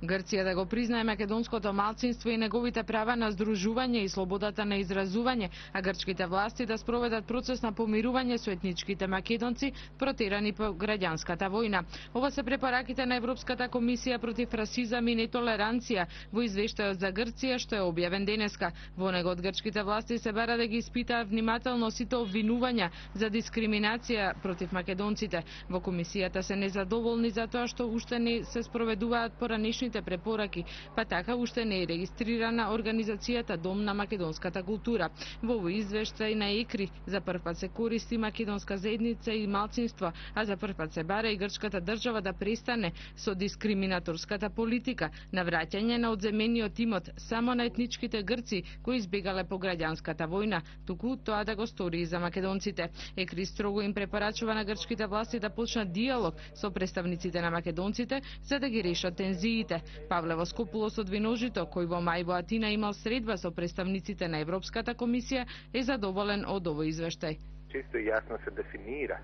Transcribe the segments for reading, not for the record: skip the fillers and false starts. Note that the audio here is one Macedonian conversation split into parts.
Грција да го признае македонското малцинство и неговите права на здружување и слободата на изразување, а грчките власти да спроведат процес на помирување со етничките македонци протерани по граѓанската војна. Ова се препораките на Европската комисија против расизам и нетолеранција во извештајот за Грција што е објавен денеска. Во него од грчките власти се бара да ги испитаат внимателно сите обвинувања за дискриминација против македонците. Во комисијата се незадоволни за тоа што уште не се спроведуваат поранешните препораки, па така уште не е регистрирана организацијата Дом на македонската култура. Во овој извештај на ЕКРИ за прв пат се користи македонска заедница и малцинство, а за прв пат се бара и грчката држава да престане со дискриминаторската политика на враќање на одземениот имот само на етничките грци кои избегале по граѓанската војна, туку тоа да го стори и за македонците. ЕКРИ строго им препорачува на грчките власти да почнат диалог со представниците на македонците за да ги решат тензиите. Павле Воскопулос од Виножито, кој во мај во Атина имал средба со представниците на Европската комисија, е задоволен од овој извештај. Чисто и јасно се дефинира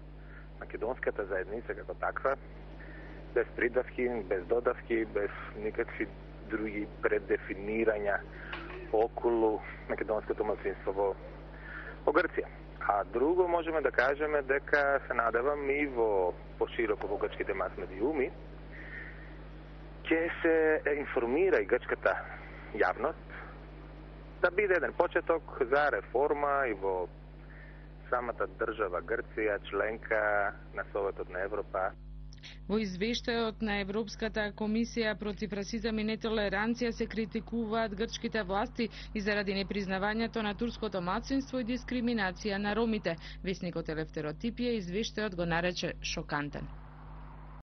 македонската заедница како таква, без придавки, без додавки, без никакви други преддефинирања околу македонското малцинство во Грција. А друго можеме да кажеме дека се надевам и во пошироко во грчките мас-медиуми ќе се информира и грчката јавност да биде еден почеток за реформа и во самата држава Грција, членка на Советот на Европа. Во извештајот на Европската комисија против расизам и нетолеранција се критикуваат грчките власти и заради непризнавањето на турското малцинство и дискриминација на ромите. Весникот Елефтерот Типија извештајот го нарече шокантен.